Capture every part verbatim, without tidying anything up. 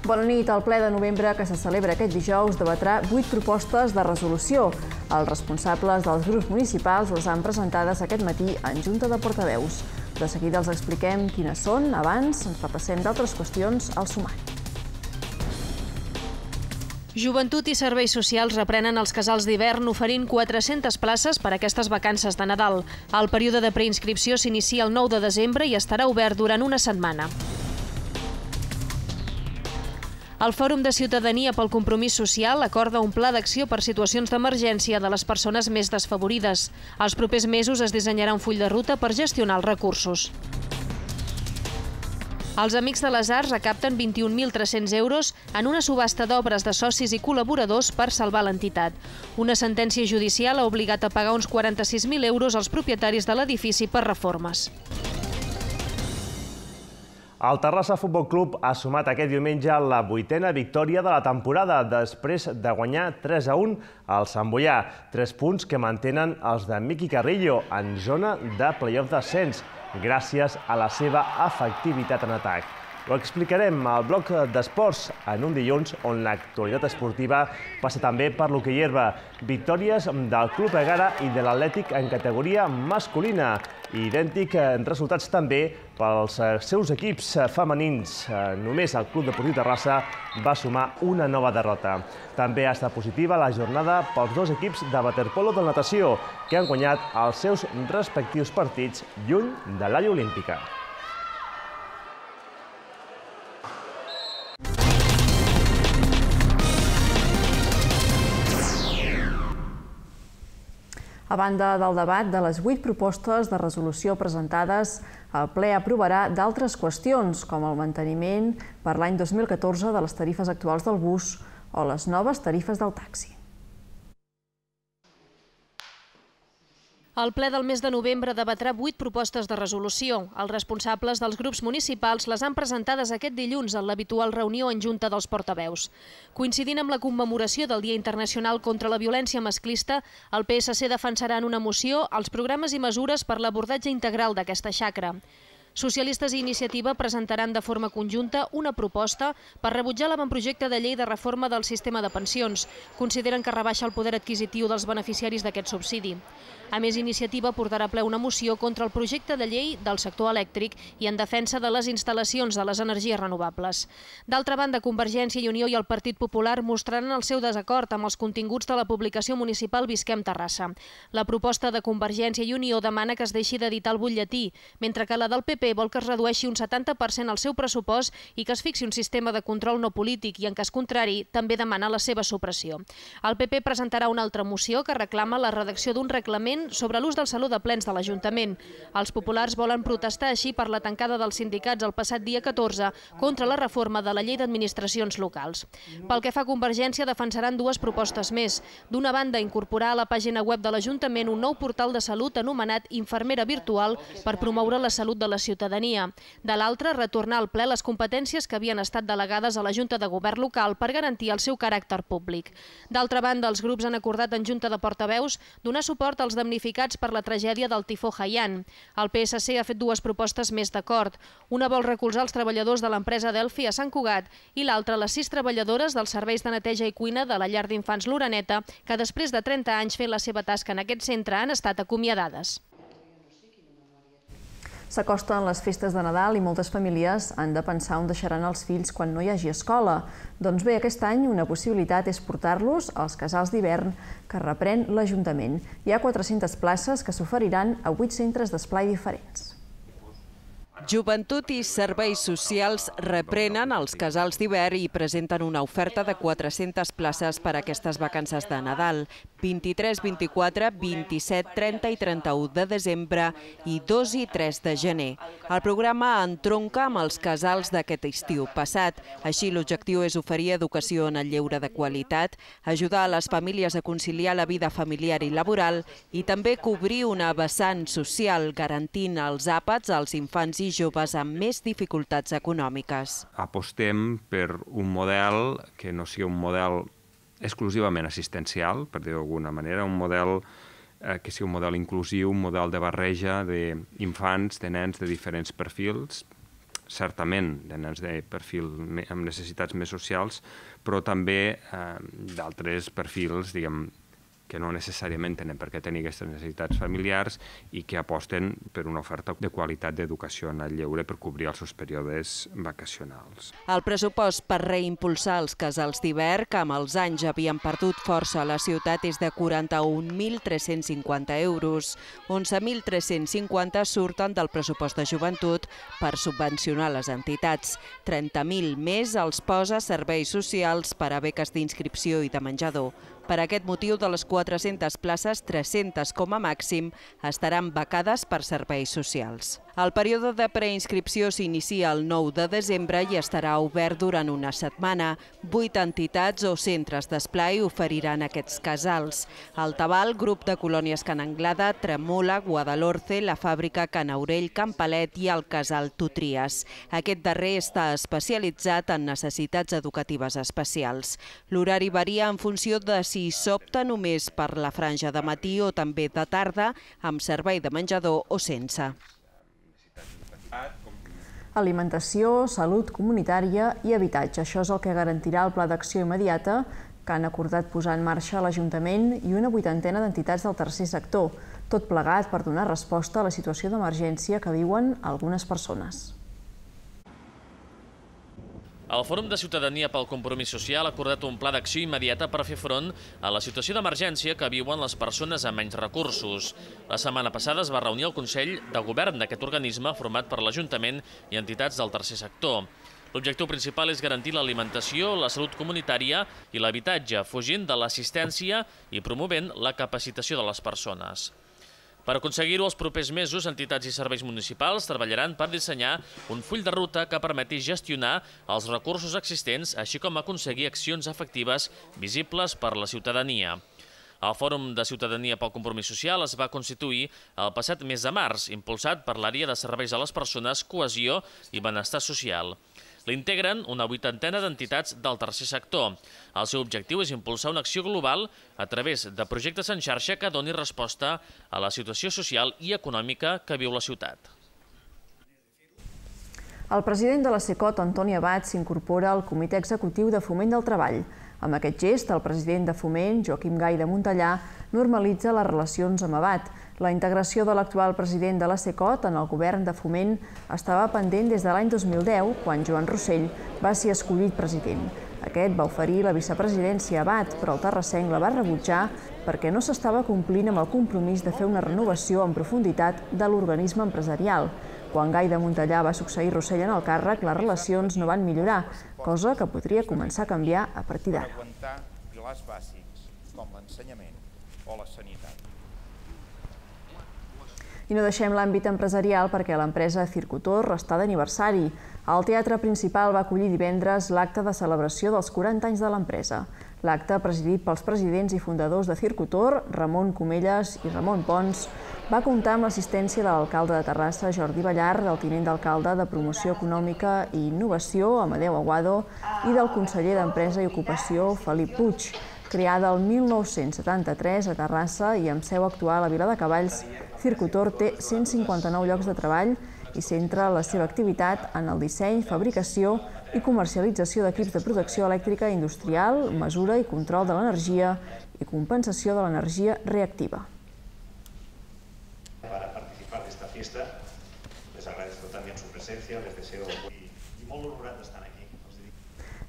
Bona nit. El ple de novembre que se celebra aquest dijous debatrà vuit propostes de resolució. Els responsables dels grups municipals les han presentades aquest matí en Junta de Portaveus. De seguida els expliquem quines són. Abans ens repassem d'altres qüestions al sumari. Joventut i Serveis Socials reprenen els casals d'hivern oferint quatre-centes places per a aquestes vacances de Nadal. El període de preinscripció s'inicia el nou de desembre i estarà obert durant una setmana. El Fòrum de Ciutadania pel Compromís Social acorda un pla d'acció per situacions d'emergència de les persones més desfavorides. Els propers mesos es dissenyarà un full de ruta per gestionar els recursos. Els Amics de les Arts recapten vint-i-un mil tres-cents euros en una subhasta d'obres de socis i col·laboradors per salvar l'entitat. Una sentència judicial ha obligat a pagar uns quaranta-sis mil euros als propietaris de l'edifici per reformes. El Terrassa Futbol Club ha sumat aquest diumenge la vuitena victòria de la temporada després de guanyar tres a un al Sant Boià. Tres punts que mantenen els de Miqui Carrillo en zona de play-off d'ascens, gràcies a la seva efectivitat en atac. Ho explicarem al bloc d'esports en un dilluns on l'actualitat esportiva passa també per l'hoquei herba. Victòries del Club Egara i de l'Atlètic en categoria masculina. Idèntic resultats també pels seus equips femenins. Només el Club Deportiu Terrassa va sumar una nova derrota. També ha estat positiva la jornada pels dos equips de waterpolo de natació, que han guanyat els seus respectius partits lluny de l'àrea olímpica. A banda del debat de les vuit propostes de resolució presentades, el ple aprovarà d'altres qüestions, com el manteniment per l'any dos mil catorze de les tarifes actuals del bus o les noves tarifes del taxi. El ple del mes de novembre debatrà vuit propostes de resolució. Els responsables dels grups municipals les han presentades aquest dilluns en l'habitual reunió en Junta dels Portaveus. Coincidint amb la commemoració del Dia Internacional contra la Violència Masclista, el P S C defensarà en una moció els programes i mesures per l'abordatge integral d'aquesta xacra. Socialistes i Iniciativa presentaran de forma conjunta una proposta per rebutjar l'avantprojecte de llei de reforma del sistema de pensions. Consideren que rebaixa el poder adquisitiu dels beneficiaris d'aquest subsidi. A més, Iniciativa portarà a ple una moció contra el projecte de llei del sector elèctric i en defensa de les instal·lacions de les energies renovables. D'altra banda, Convergència i Unió i el Partit Popular mostraran el seu desacord amb els continguts de la publicació municipal Visquem Terrassa. La proposta de Convergència i Unió demana que es deixi d'editar el butlletí, mentre que la del P P vol que es redueixi un setanta per cent el seu pressupost i que es fixi un sistema de control no polític i, en cas contrari, també demana la seva supressió. El P P presentarà una altra moció que reclama la redacció d'un reglament sobre l'ús del saló de plens de l'Ajuntament. Els populars volen protestar així per la tancada dels sindicats el passat dia catorze contra la reforma de la llei d'administracions locals. Pel que fa a Convergència, defensaran dues propostes més. D'una banda, incorporar a la pàgina web de l'Ajuntament un nou portal de salut anomenat Infermera Virtual per promoure la salut de la ciutadania. De l'altra, retornar al ple les competències que havien estat delegades a la Junta de Govern local per garantir el seu caràcter públic. D'altra banda, els grups han acordat en Junta de Portaveus donar suport als damnificats per la tragèdia del tifó Haiyan. El P S C ha fet dues propostes més d'acord. Una vol recolzar els treballadors de l'empresa Delphi a Sant Cugat i l'altra les sis treballadores dels serveis de neteja i cuina de la llar d'infants L'Oreneta, que després de trenta anys fent la seva tasca en aquest centre han estat acomiadades. S'acosten les festes de Nadal i moltes famílies han de pensar on deixaran els fills quan no hi hagi escola. Doncs bé, aquest any una possibilitat és portar-los als casals d'hivern que reprèn l'Ajuntament. Hi ha quatre-centes places que s'oferiran a vuit centres d'esplai diferents. Joventut i Serveis Socials reprenen els casals d'hivern i presenten una oferta de quatre-centes places per a aquestes vacances de Nadal, vint-i-tres, vint-i-quatre, vint-i-set, trenta i trenta-u de desembre i dos i tres de gener. El programa entronca amb els casals d'aquest estiu passat. Així, l'objectiu és oferir educació en el lleure de qualitat, ajudar a les famílies a conciliar la vida familiar i laboral i també cobrir una vessant social, garantint els àpats als infants i joves amb més dificultats econòmiques. Apostem per un model que no sigui un model exclusivament assistencial, per dir-ho d'alguna manera, un model que sigui un model inclusiu, un model de barreja d'infants, de nens de diferents perfils, certament de nens de perfil amb necessitats més socials, però també d'altres perfils, diguem, que no necessàriament tenen per què tenir aquestes necessitats familiars i que aposten per una oferta de qualitat d'educació en el lleure per cobrir els seus períodes vacacionals. El pressupost per reimpulsar els casals d'hivern, que amb els anys havien perdut força a la ciutat, és de quaranta-un mil tres-cents cinquanta euros. onze mil tres-cents cinquanta surten del pressupost de joventut per subvencionar les entitats. trenta mil més els posa serveis socials per a beques d'inscripció i de menjador. Per aquest motiu, de les quatre-centes places, tres-centes com a màxim estaran becades per serveis socials. El període de preinscripció s'inicia el nou de desembre i estarà obert durant una setmana. Vuit entitats o centres d'esplai oferiran aquests casals. El Tabal, Grup de Colònies Can Anglada, Tremola, Guadalhorce, la Fàbrica, Can Aurell, Can Palet i el Casal Tutries. Aquest darrer està especialitzat en necessitats educatives especials. L'horari varia en funció de si s'opta només per la franja de matí o també de tarda, amb servei de menjador o sense. Alimentació, salut comunitària i habitatge. Això és el que garantirà el Pla d'Acció Immediata que han acordat posar en marxa l'Ajuntament i una vuitantena d'entitats del tercer sector, tot plegat per donar resposta a la situació d'emergència que viuen algunes persones. El Fòrum de Ciutadania pel Compromís Social ha acordat un pla d'acció immediata per fer front a la situació d'emergència que viuen les persones amb menys recursos. La setmana passada es va reunir el Consell de Govern d'aquest organisme format per l'Ajuntament i entitats del tercer sector. L'objectiu principal és garantir l'alimentació, la salut comunitària i l'habitatge, fugint de l'assistència i promovent la capacitació de les persones. Per aconseguir-ho, els propers mesos, entitats i serveis municipals treballaran per dissenyar un full de ruta que permeti gestionar els recursos existents, així com aconseguir accions efectives visibles per la ciutadania. El Fòrum de Ciutadania pel Compromís Social es va constituir el passat mes de març, impulsat per l'àrea de serveis a les persones, cohesió i benestar social. L'integren una vuitantena d'entitats del tercer sector. El seu objectiu és impulsar una acció global a través de projectes en xarxa que doni resposta a la situació social i econòmica que viu la ciutat. El president de la SECOT, Antoni Abad, s'incorpora al Comitè Executiu de Foment del Treball. Amb aquest gest, el president de Foment, Joaquim Gai de Montellà, normalitza les relacions amb Abad. La integració de l'actual president de la SECOT en el govern de Foment estava pendent des de l'any dos mil deu, quan Joan Rossell va ser escollit president. Aquest va oferir la vicepresidència a Abad, però el terrassenc la va rebutjar perquè no s'estava complint amb el compromís de fer una renovació en profunditat de l'organisme empresarial. Quan Gai de Montellà va succeir Rossell en el càrrec, les relacions no van millorar, cosa que podria començar a canviar a partir d'ara. Pilars bàsics com l'ensenyament o la sanitat. I no deixem l'àmbit empresarial perquè l'empresa Circutor està d'aniversari. El Teatre Principal va acollir divendres l'acte de celebració dels quaranta anys de l'empresa. L'acte, presidit pels presidents i fundadors de Circutor, Ramon Comelles i Ramon Pons, va comptar amb l'assistència de l'alcalde de Terrassa, Jordi Ballar, del tinent d'alcalde de Promoció Econòmica i Innovació, Amadeu Aguado, i del conseller d'Empresa i Ocupació, Felip Puig. Creada el mil nou-cents setanta-tres a Terrassa i amb seu actual a Viladecavalls, Circutor té cent cinquanta-nou llocs de treball i centra la seva activitat en el disseny, fabricació i comercialització d'equips de protecció elèctrica industrial, mesura i control de l'energia i compensació de l'energia reactiva. Para participar de esta fiesta, les agradezco también su presencia, les deseo y molt honorat d'estar aquí.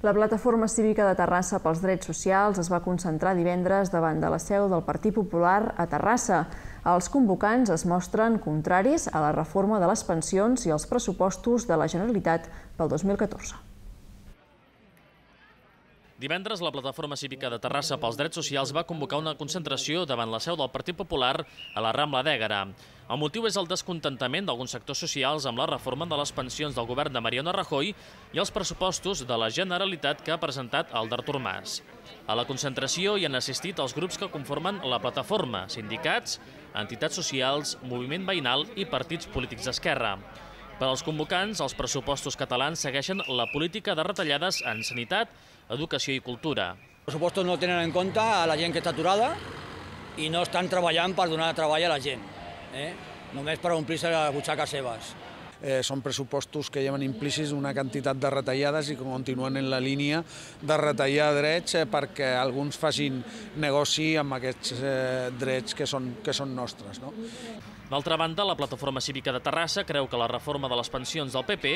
La Plataforma Cívica de Terrassa pels Drets Socials es va concentrar divendres davant de la seu del Partit Popular a Terrassa. Els convocants es mostren contraris a la reforma de les pensions i els pressupostos de la Generalitat pel dos mil catorze. Divendres, la Plataforma Cívica de Terrassa pels Drets Socials va convocar una concentració davant la seu del Partit Popular a la Rambla d'Ègara. El motiu és el descontentament d'alguns sectors socials amb la reforma de les pensions del govern de Mariano Rajoy i els pressupostos de la Generalitat que ha presentat el d'Artur Mas. A la concentració hi han assistit els grups que conformen la plataforma, sindicats, entitats socials, moviment veïnal i partits polítics d'esquerra. Per als convocants, els pressupostos catalans segueixen la política de retallades en sanitat, educació i cultura. Els pressupostos no tenen en compte a la gent que està aturada i no estan treballant per donar treball a la gent, eh? només per omplir-se les butxaques seves. són pressupostos que lleven implícits una quantitat de retallades i que continuen en la línia de retallar drets perquè alguns facin negoci amb aquests drets que són, que són nostres. No? D'altra banda, la Plataforma Cívica de Terrassa creu que la reforma de les pensions del P P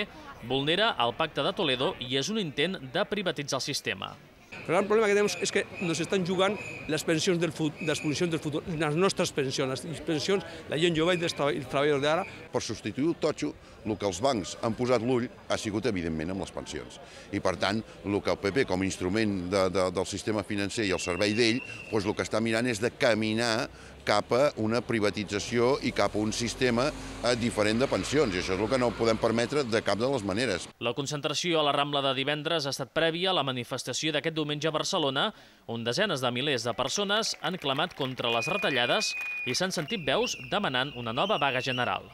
vulnera el Pacte de Toledo i és un intent de privatitzar el sistema. El gran problema que tenemos es que nos están jugant les pensions del futur, les pensions del futur, les nostres pensions, les pensions, la gent jove i els treballadors d'ara. Per substituir el totxo, el que els bancs han posat l'ull ha sigut, evidentment, amb les pensions. I, per tant, el que el P P, com a instrument de, de, del sistema financer i el servei d'ell, doncs el que està mirant és de caminar cap a una privatització i cap a un sistema diferent de pensions. I això és el que no podem permetre de cap de les maneres. La concentració a la Rambla de divendres ha estat prèvia a la manifestació d'aquest diumenge a Barcelona, on desenes de milers de persones han clamat contra les retallades i s'han sentit veus demanant una nova vaga general.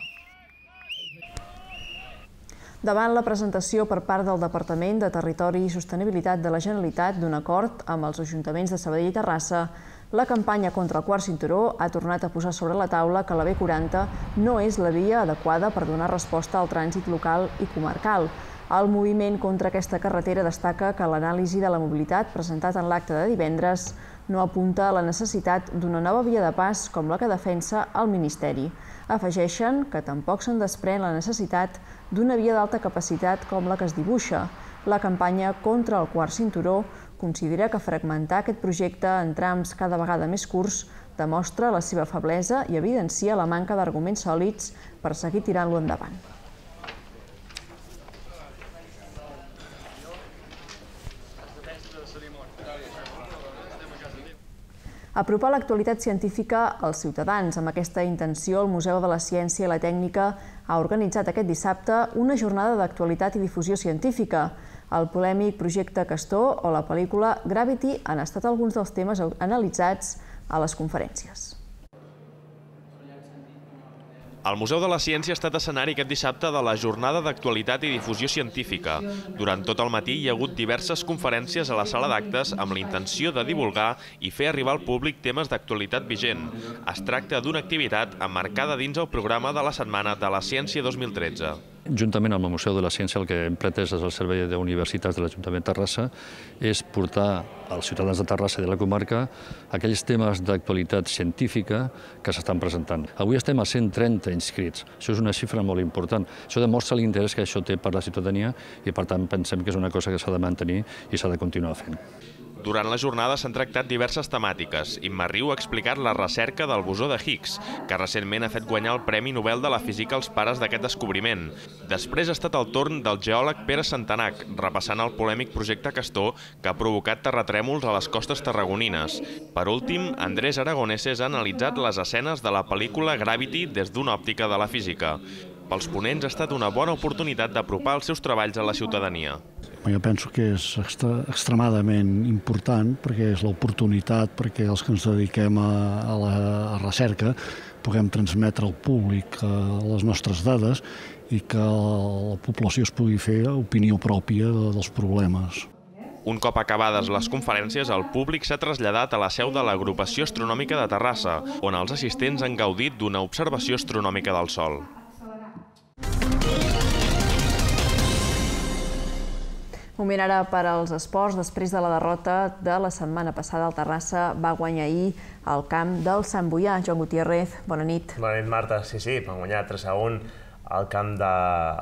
Davant la presentació per part del Departament de Territori i Sostenibilitat de la Generalitat d'un acord amb els ajuntaments de Sabadell i Terrassa, la campanya contra el quart cinturó ha tornat a posar sobre la taula que la B quaranta no és la via adequada per donar resposta al trànsit local i comarcal. El moviment contra aquesta carretera destaca que l'anàlisi de la mobilitat presentat en l'acte de divendres no apunta a la necessitat d'una nova via de pas com la que defensa el Ministeri. Afegeixen que tampoc se'n desprèn la necessitat d'una via d'alta capacitat com la que es dibuixa. La campanya contra el quart cinturó considera que fragmentar aquest projecte en trams cada vegada més curts demostra la seva feblesa i evidencia la manca d'arguments sòlids per seguir tirant-lo endavant. Apropar l'actualitat científica als ciutadans. Amb aquesta intenció, el Museu de la Ciència i la Tècnica ha organitzat aquest dissabte una jornada d'actualitat i difusió científica. El polèmic projecte Castor o la pel·lícula Gravity han estat alguns dels temes analitzats a les conferències. El Museu de la Ciència ha estat escenari aquest dissabte de la jornada d'actualitat i difusió científica. Durant tot el matí hi ha hagut diverses conferències a la sala d'actes amb la intenció de divulgar i fer arribar al públic temes d'actualitat vigent. Es tracta d'una activitat emmarcada dins el programa de la Setmana de la Ciència dos mil tretze. Juntament amb el Museu de la Ciència, el que hem pretès des del Servei d'Universitats de l'Ajuntament de Terrassa és portar als ciutadans de Terrassa i de la comarca aquells temes d'actualitat científica que s'estan presentant. Avui estem a cent trenta inscrits. Això és una xifra molt important. Això demostra l'interès que això té per la ciutadania i, per tant, pensem que és una cosa que s'ha de mantenir i s'ha de continuar fent. Durant la jornada s'han tractat diverses temàtiques. Imma Riu ha explicat la recerca del bosó de Higgs, que recentment ha fet guanyar el Premi Nobel de la Física als pares d'aquest descobriment. Després ha estat el torn del geòleg Pere Santanac, repassant el polèmic projecte Castor, que ha provocat terratrèmols a les costes tarragonines. Per últim, Andrés Aragoneses ha analitzat les escenes de la pel·lícula Gravity des d'una òptica de la física. Pels ponents ha estat una bona oportunitat d'apropar els seus treballs a la ciutadania. Jo penso que és extremadament important perquè és l'oportunitat perquè els que ens dediquem a la recerca puguem transmetre al públic les nostres dades i que la població es pugui fer opinió pròpia dels problemes. Un cop acabades les conferències, el públic s'ha traslladat a la seu de l'Agrupació Astronòmica de Terrassa, on els assistents han gaudit d'una observació astronòmica del Sol. Moment ara per als esports. Després de la derrota de la setmana passada, el Terrassa va guanyar ahir al camp del Sant Boià. Joan Gutiérrez, bona nit. Bona nit, Marta. Sí, sí, van guanyar tres a un al camp de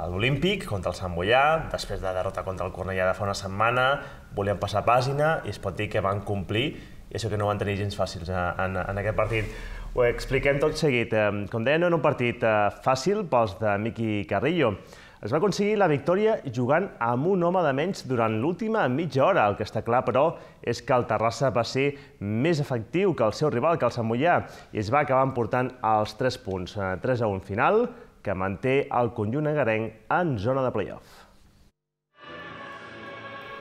l'Olímpic contra el Sant Boià. Després de la derrota contra el Cornellà de fa una setmana, volien passar pàgina i es pot dir que van complir, i això que no van tenir gens fàcils en aquest partit. Ho expliquem tot seguit. Com deia, no era un partit fàcil pels de Miqui Carrillo. Es va aconseguir la victòria jugant amb un home de menys durant l'última mitja hora. El que està clar, però, és que el Terrassa va ser més efectiu que el seu rival, que el Sant Boià, i es va acabar emportant els tres punts. tres a un final, que manté el conjunt agarenc en zona de play-off.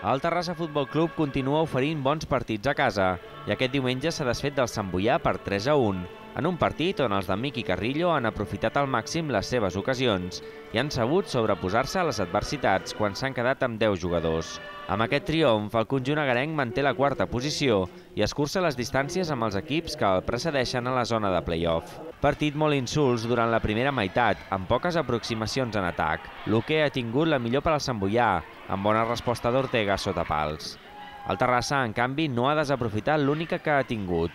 El Terrassa Futbol Club continua oferint bons partits a casa i aquest diumenge s'ha desfet del Sant Boià per tres a un, en un partit on els de Miqui Carrillo han aprofitat al màxim les seves ocasions i han sabut sobreposar-se a les adversitats quan s'han quedat amb deu jugadors. Amb aquest triomf, el conjunt agarenc manté la quarta posició i escurça les distàncies amb els equips que el precedeixen a la zona de play-off. Partit molt insults durant la primera meitat, amb poques aproximacions en atac. Luque ha tingut la millor per al Santboià, amb bona resposta d'Ortega sota pals. El Terrassa, en canvi, no ha desaprofitat l'única que ha tingut.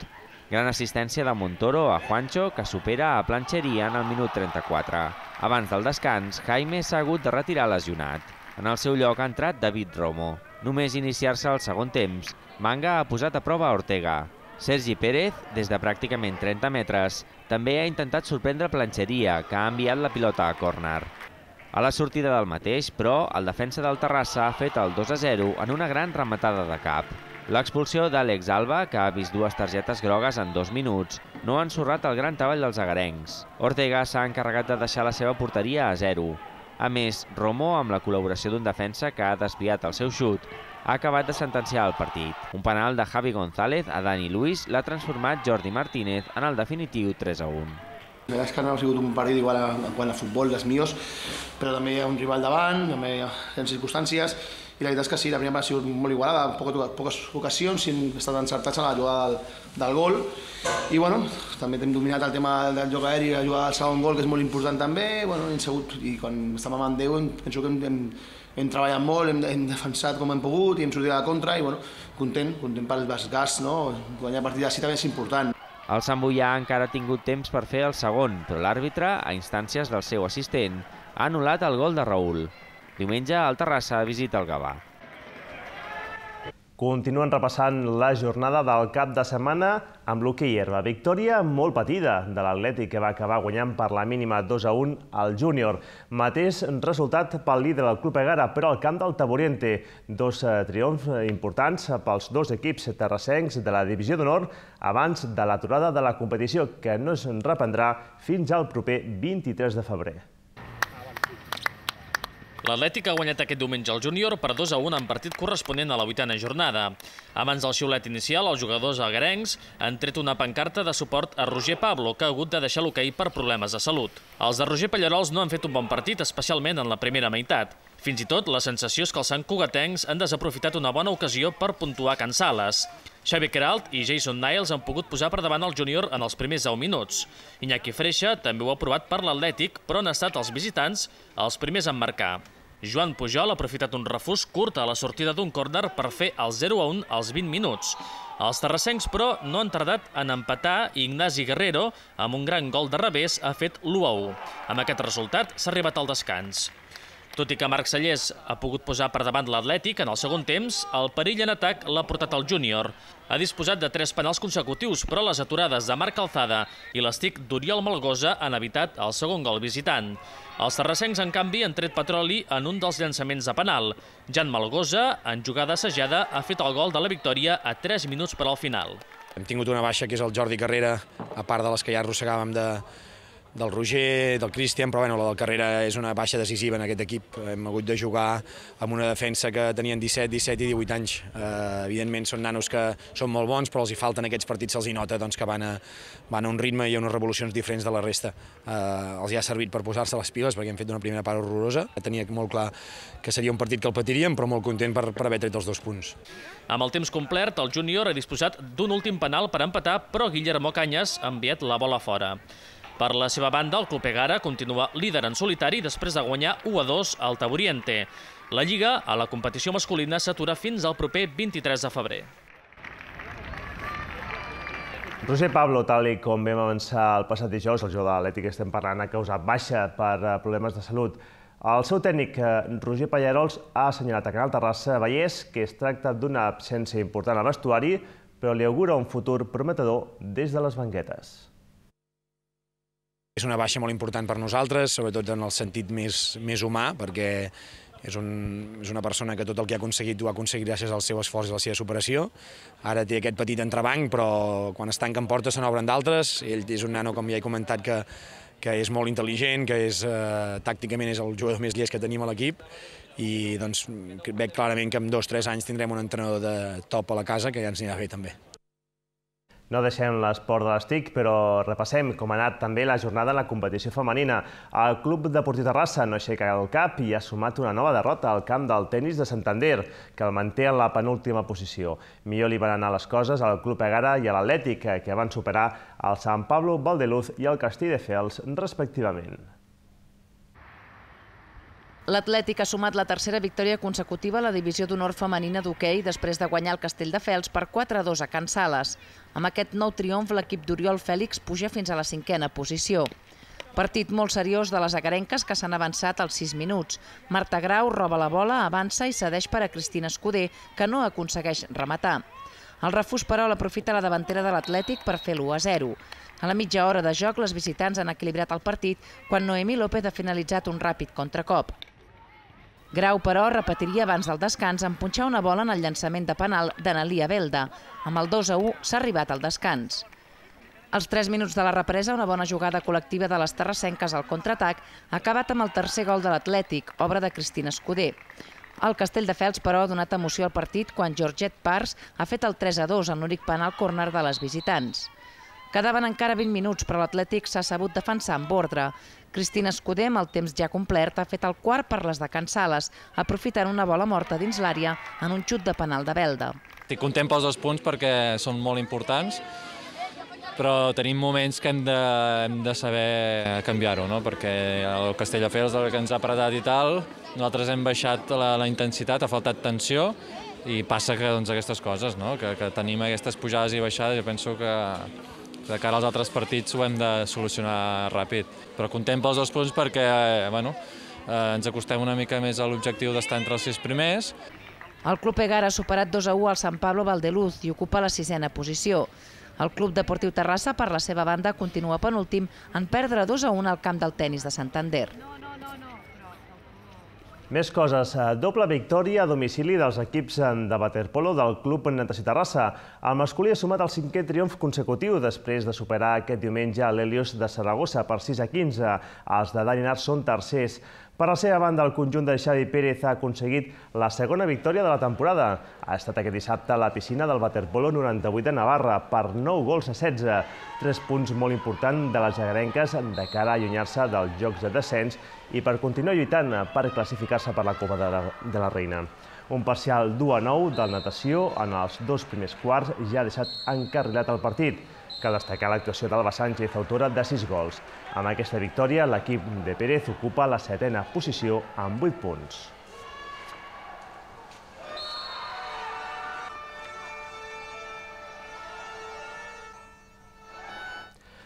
Gran assistència de Montoro a Juancho, que supera a Plancheria en el minut trenta-quatre. Abans del descans, Jaime s'ha hagut de retirar lesionat. En el seu lloc ha entrat David Romo. Només iniciar-se el segon temps, Manga ha posat a prova Ortega. Sergi Pérez, des de pràcticament trenta metres, també ha intentat sorprendre Plancheria, que ha enviat la pilota a córner. A la sortida del mateix, però, el defensa del Terrassa ha fet el dos a zero en una gran rematada de cap. L'expulsió d'Àlex Alba, que ha vist dues targetes grogues en dos minuts, no ha ensorrat el gran treball dels agarencs. Ortega s'ha encarregat de deixar la seva porteria a zero. A més, Romo, amb la col·laboració d'un defensa que ha desviat el seu xut, ha acabat de sentenciar el partit. Un penal de Javi González a Dani Luis l'ha transformat Jordi Martínez en el definitiu tres a un. La veritat és que no ha sigut un partit igual en quant a futbol dels mios, però també hi ha un rival davant, també hi ha circumstàncies, i la veritat és que sí, la primera part ha sigut molt igualada, poques, poques ocasions, i hem estat encertats a la jugada del, del gol. I bueno, també hem dominat el tema del joc aeri, la jugada del segon gol, que és molt important també, bueno, hem segut, i quan estem amb en Déu, penso que hem, hem, hem treballat molt, hem, hem defensat com hem pogut, i hem sortit a la contra, i bueno, content, content pel desgast, no? Guanyar partida així també és important. El Santboià encara ha tingut temps per fer el segon, però l'àrbitre, a instàncies del seu assistent, ha anul·lat el gol de Raül. Diumenge, el Terrassa visita el Gavà. Continuen repassant la jornada del cap de setmana amb l'hoquei herba. Victòria molt patida de l'Atlètic, que va acabar guanyant per la mínima dos a un al júnior. Mateix resultat pel líder del Club Egara, però al camp del Taburiente. Dos triomfs importants pels dos equips terrassencs de la divisió d'honor abans de l'aturada de la competició, que no es reprendrà fins al proper vint-i-tres de febrer. L'Atlètic ha guanyat aquest diumenge el júnior per dos a un en partit corresponent a la vuitena jornada. Abans del xiulet inicial, els jugadors agarencs han tret una pancarta de suport a Roger Pablo, que ha hagut de deixar l'hoquei per problemes de salut. Els de Roger Pallarols no han fet un bon partit, especialment en la primera meitat. Fins i tot, la sensació és que els santcugatencs han desaprofitat una bona ocasió per puntuar Can Sales. Xavi Queralt i Jason Niles han pogut posar per davant el júnior en els primers deu minuts. Iñaki Freixa també ho ha provat per l'Atlètic, però han estat els visitants els primers en marcar. Joan Pujol ha aprofitat un refús curt a la sortida d'un córner per fer el zero a un als vint minuts. Els terrassencs, però, no han tardat en empatar i Ignasi Guerrero, amb un gran gol de revés, ha fet l'u a u. Amb aquest resultat s'ha arribat al descans. Tot i que Marc Sallés ha pogut posar per davant l'Atlètic en el segon temps, el perill en atac l'ha portat el júnior. Ha disposat de tres penals consecutius, però les aturades de Marc Calzada i l'estic d'Oriol Malgosa han evitat el segon gol visitant. Els terrassencs, en canvi, han tret petroli en un dels llançaments de penal. Jan Malgosa, en jugada assajada, ha fet el gol de la victòria a tres minuts per al final. Hem tingut una baixa, que és el Jordi Carrera, a part de les que ja arrossegàvem de... del Roger, del Cristian, però bueno, la del Carrera és una baixa decisiva en aquest equip. Hem hagut de jugar amb una defensa que tenien disset, disset i divuit anys. Eh, evidentment són nanos que són molt bons, però els hi falten aquests partits, se'ls hi nota doncs, que van a, van a un ritme i a unes revolucions diferents de la resta. Eh, els hi ha servit per posar-se les piles, perquè hem fet una primera part horrorosa. Tenia molt clar que seria un partit que el patiríem, però molt content per, per haver tret els dos punts. Amb el temps complert, el júnior ha disposat d'un últim penal per empatar, però Guillermo Cañas ha enviat la bola fora. Per la seva banda, el Club Egara continua líder en solitari després de guanyar u a dos al Taburiente. La Lliga, a la competició masculina, s'atura fins al proper vint-i-tres de febrer. Roger Pablo, tal com vam avançar el passat dijous, el jugador de l'Atlètic que estem parlant, ha causat baixa per problemes de salut. El seu tècnic, Roger Pallarols, ha assenyalat a Canal Terrassa Vallès que es tracta d'una absència important al vestuari, però li augura un futur prometedor des de les banquetes. És una baixa molt important per nosaltres, sobretot en el sentit més, més humà, perquè és, un, és una persona que tot el que ha aconseguit ho ha aconseguit gràcies al seu esforç i a la seva superació. Ara té aquest petit entrebanc, però quan es tanquen portes se n'obren d'altres. Ell és un nano, com ja he comentat, que, que és molt intel·ligent, que és, eh, tàcticament és el jugador més llest que tenim a l'equip, i doncs, veig clarament que en dos o tres anys tindrem un entrenador de top a la casa, que ja ens anirà bé també. No deixem l'esport de les T I C, però repassem com ha anat també la jornada en la competició femenina. El Club Deportiu Terrassa no aixeca el cap i ha sumat una nova derrota al camp del tenis de Santander, que el manté en la penúltima posició. Millor li van anar les coses al Club Egara i a l'Atlètic, que van superar el Sant Pablo Valdeluz i el Castelldefels, respectivament. L'Atlètic ha sumat la tercera victòria consecutiva a la divisió d'honor femenina d'hoquei després de guanyar el Castelldefels per quatre a dos a Can Sales. Amb aquest nou triomf, l'equip d'Oriol Fèlix puja fins a la cinquena posició. Partit molt seriós de les agarenques que s'han avançat als sis minuts. Marta Grau roba la bola, avança i cedeix per a Cristina Escuder, que no aconsegueix rematar. El refús, però, l'aprofita la davantera de l'Atlètic per fer l'u a zero. A la mitja hora de joc, les visitants han equilibrat el partit quan Noemí López ha finalitzat un ràpid contracop. Grau, però, repetiria abans del descans en punxar una bola en el llançament de penal d'Analia Belda. Amb el dos a u s'ha arribat al descans. Als tres minuts de la represa, una bona jugada col·lectiva de les terrassenques al contraatac ha acabat amb el tercer gol de l'Atlètic, obra de Cristina Escuder. El Castelldefels, però, ha donat emoció al partit quan Georgette Pars ha fet el tres a dos en l'únic penal córner de les visitants. Quedaven encara vint minuts, però l'Atlètic s'ha sabut defensar amb ordre. Cristina Escuder, amb el temps ja complert, ha fet el quart per les de Can Sales, aprofitant una bola morta dins l'àrea en un xut de penal de Belda. Estic content pels dos punts perquè són molt importants, però tenim moments que hem de, hem de saber canviar-ho, no? Perquè el Castelldefels, el que ens ha apretat i tal, nosaltres hem baixat la, la intensitat, ha faltat tensió, i passa que doncs, aquestes coses, no? que, que tenim aquestes pujades i baixades, jo penso que de cara als altres partits ho hem de solucionar ràpid. Però content pels dos punts perquè bueno, eh, ens acostem una mica més a l'objectiu d'estar entre els sis primers. El Club Egara ha superat dos a u al Sant Pablo Valdeluz i ocupa la sisena posició. El Club Deportiu Terrassa, per la seva banda, continua penúltim en perdre dos a un al camp del tenis de Santander. Més coses. Doble victòria a domicili dels equips de waterpolo del Club Natació Terrassa. El masculí ha sumat el cinquè triomf consecutiu després de superar aquest diumenge l'Helios de Saragossa per sis a quinze. Els de Dani Nart són tercers. Per la seva banda, el conjunt de Xavi Pérez ha aconseguit la segona victòria de la temporada. Ha estat aquest dissabte a la piscina del waterpolo noranta-vuit de Navarra per nou gols a setze. Tres punts molt importants de les agarenques de cara a allunyar-se dels jocs de descens i per continuar lluitant per classificar-se per la Copa de la Reina. Un parcial d'u a nou del natació en els dos primers quarts ja ha deixat encarrilat el partit. Cal destacar l'actuació d'Alba Sánchez, autora de sis gols. Amb aquesta victòria, l'equip de Pérez ocupa la setena posició amb vuit punts.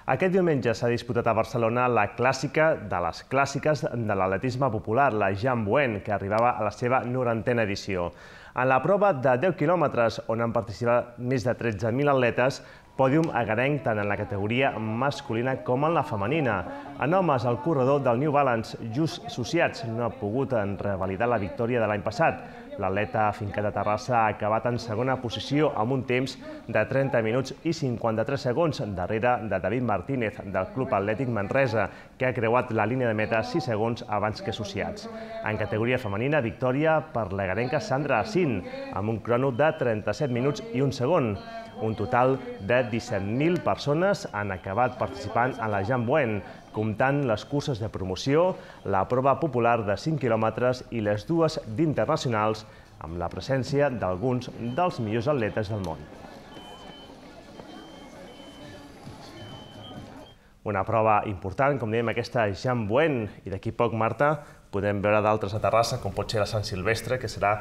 Aquest diumenge s'ha disputat a Barcelona la clàssica de les clàssiques de l'atletisme popular, la Jean Buen, que arribava a la seva norantena edició. En la prova de deu quilòmetres, on han participat més de tretze mil atletes, pòdium agarenc tant en la categoria masculina com en la femenina. En homes, el corredor del New Balance, Just Sociats, no ha pogut revalidar la victòria de l'any passat. L'atleta afincat a Terrassa ha acabat en segona posició amb un temps de trenta minuts i cinquanta-tres segons darrere de David Martínez del Club Atlètic Manresa, que ha creuat la línia de meta sis segons abans que Sociats. En categoria femenina, victòria per l'agarenca Sandra Assin, amb un crono de trenta-set minuts i un segon. Un total de disset mil persones han acabat participant en la Jean Buen, comptant les curses de promoció, la prova popular de cinc quilòmetres i les dues d'internacionals, amb la presència d'alguns dels millors atletes del món. Una prova important, com dèiem, aquesta Jean Buen, i d'aquí poc, Marta, podem veure d'altres a Terrassa, com pot ser la Sant Silvestre, que serà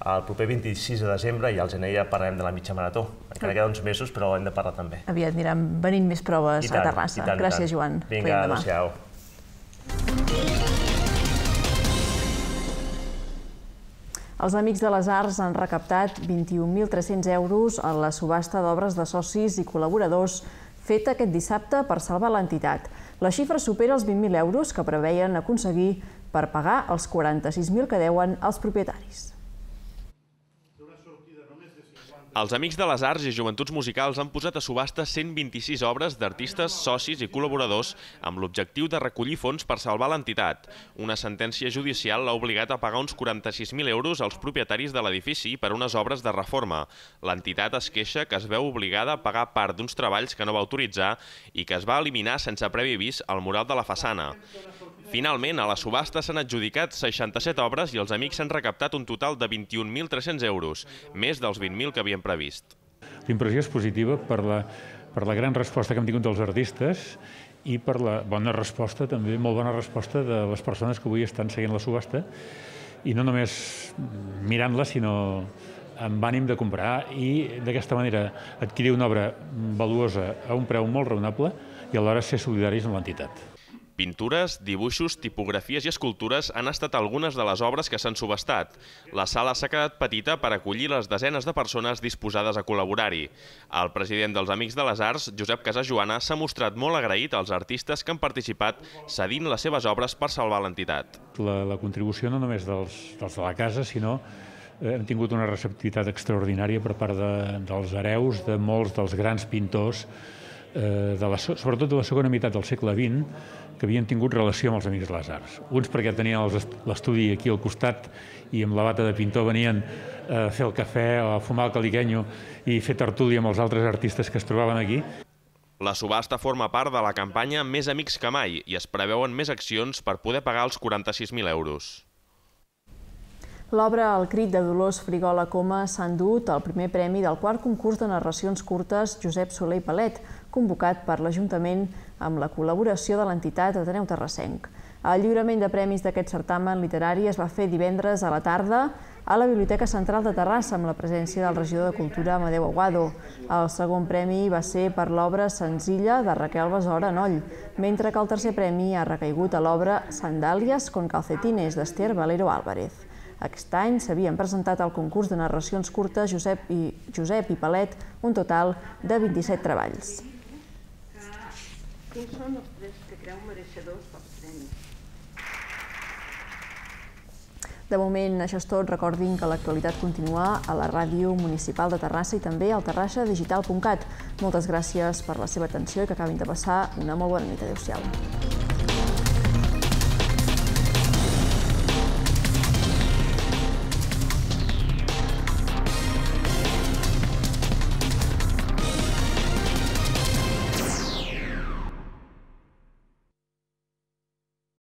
el proper vint-i-sis de desembre, i al gener ja parlarem de la mitja marató. Encara queda uns mesos, però hem de parlar també. Aviat aniran venint més proves a Terrassa. Gràcies, Joan. Vinga, adéu-siau. Els Amics de les Arts han recaptat vint-i-un mil tres-cents euros a la subhasta d'obres de socis i col·laboradors feta aquest dissabte per salvar l'entitat. La xifra supera els vint mil euros que preveien aconseguir per pagar els quaranta-sis mil que deuen als propietaris. Els Amics de les Arts i Joventuts Musicals han posat a subhasta cent vint-i-sis obres d'artistes, socis i col·laboradors amb l'objectiu de recollir fons per salvar l'entitat. Una sentència judicial l'ha obligat a pagar uns quaranta-sis mil euros als propietaris de l'edifici per unes obres de reforma. L'entitat es queixa que es veu obligada a pagar part d'uns treballs que no va autoritzar i que es va eliminar sense previ avís al mural de la façana. Finalment, a la subhasta s'han adjudicat seixanta-set obres i els Amics s'han recaptat un total de vint-i-un mil tres-cents euros, més dels vint mil que havien previst. La impressió és positiva per la, per la gran resposta que hem tingut dels artistes i per la bona resposta, també molt bona resposta de les persones que avui estan seguint la subhasta i no només mirant-la, sinó amb ànim de comprar i d'aquesta manera adquirir una obra valuosa a un preu molt raonable i alhora ser solidaris amb l'entitat. Pintures, dibuixos, tipografies i escultures han estat algunes de les obres que s'han subhastat. La sala s'ha quedat petita per acollir les desenes de persones disposades a col·laborar-hi. El president dels Amics de les Arts, Josep Casajoana, s'ha mostrat molt agraït als artistes que han participat cedint les seves obres per salvar l'entitat. La, la contribució no només dels, dels de la casa, sinó eh, hem tingut una receptivitat extraordinària per part de, dels hereus de molts dels grans pintors, eh, de la, sobretot de la segona meitat del segle vint, que havien tingut relació amb els Amics de les Arts. Uns perquè tenien l'estudi aquí al costat i amb la bata de pintor venien a fer el cafè o a fumar el caliquenyo i fer tertúlia amb els altres artistes que es trobaven aquí. La subhasta forma part de la campanya Més Amics que mai i es preveuen més accions per poder pagar els quaranta-sis mil euros. L'obra El crit de Dolors Frigola Coma s'ha endut el primer premi del quart concurs de narracions curtes Josep Soler i Palet, convocat per l'Ajuntament amb la col·laboració de l'entitat Ateneu Terrassenc. El lliurament de premis d'aquest certamen literari es va fer divendres a la tarda a la Biblioteca Central de Terrassa amb la presència del regidor de Cultura Amadeu Aguado. El segon premi va ser per l'obra Senzilla de Raquel Besora Noll, mentre que el tercer premi ha recaigut a l'obra Sandalias con calcetines d'Esther Valero Álvarez. Aquest any s'havien presentat al concurs de narracions curtes Josep i, Josep i Palet un total de vint-i-set treballs. Quins són els tres que creu mereixedors dels premis? De moment, això és tot. Recordin que l'actualitat continua a la ràdio municipal de Terrassa i també al terrassa digital punt cat. Moltes gràcies per la seva atenció i que acabin de passar una molt bona nit. Adéu-siau.